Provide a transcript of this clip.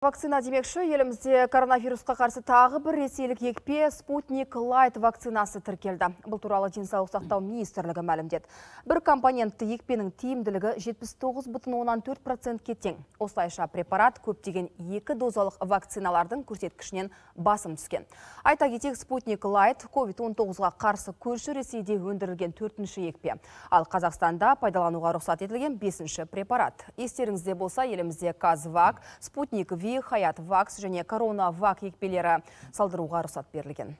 Вакцина демекші, елімізде коронавирусқа қарсы тағы бір ресейлік екпе Спутник Лайт вакцинасы тіркелді. Бұл туралы денсаулық сақтау министрлігі мәлімдеді. Бір компонентті екпенің тиімділігі 79,4%-ке тең. Осылайша препарат көптеген екі дозалық вакциналардың көрсеткішінен басым түскен. Айта кетейік, Спутник Лайт COVID-19-ға қарсы көрші Ресейде өндірілген 4-ші екпе. Ал Қазақстанда пайдалануға рұқсат етілген 5-ші препарат. Естеріңізде болса, елімізде Казвак, Спутник Ви, Хаят Вакс және Корона Вак екпелері салдыруға рұқсат берілген.